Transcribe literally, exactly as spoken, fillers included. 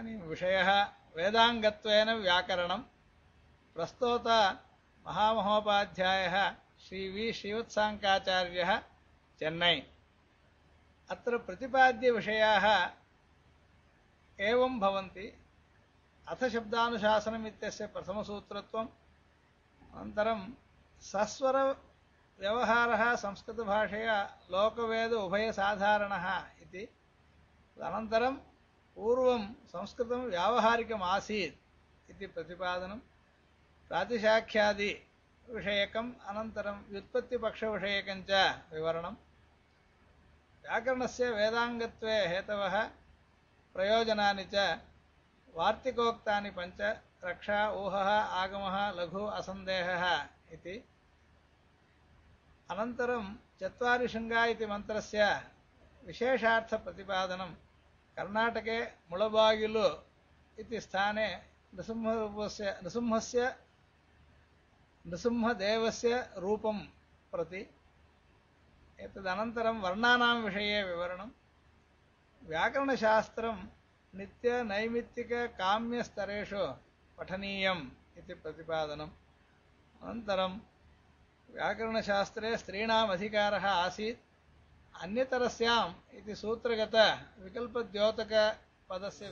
इदानीं विषयः वेदाङ्गत्वेन व्याकरणं प्रस्तोत महामहोपाध्यायः श्री वि श्रीवत्साङ्काचार्यः चेन्नै। अत्र प्रतिपाद्यविषयाः एवं भवन्ति। अथ शब्दानुशासनम् इत्यस्य प्रथमसूत्रत्वम्, अनन्तरं सस्वरव्यवहारः संस्कृतभाषया लोकवेद उभयसाधारणः इति, अनन्तरं पूर्वं संस्कृतं व्यावहारिकम् आसीत् इति प्रतिपादनं, प्रातिशाख्यादि विषयकम्, अनन्तरं व्युत्पत्तिपक्षविषयकं च विवरणं, व्याकरणस्य वेदाङ्गत्वे हेतवः प्रयोजनानि च वार्तिकोक्तानि पञ्च, रक्षा ऊहः आगमः लघु असन्देहः इति। अनन्तरं चत्वारि शृङ्गा इति मन्त्रस्य विशेषार्थप्रतिपादनं, कर्णाटके मुळबागिलु इति स्थाने नृसिंहरूपस्य नृसिंहस्य नृसिंहदेवस्य रूपं प्रति। एतदनन्तरं वर्णानां विषये विवरणं, व्याकरणशास्त्रं नित्यनैमित्तिककाम्यस्तरेषु पठनीयम् इति प्रतिपादनम्। अनन्तरं व्याकरणशास्त्रे स्त्रीणाम् अधिकारः आसीत् अन्यतरस्याम् इति सूत्रगतविकल्पद्योतकपदस्य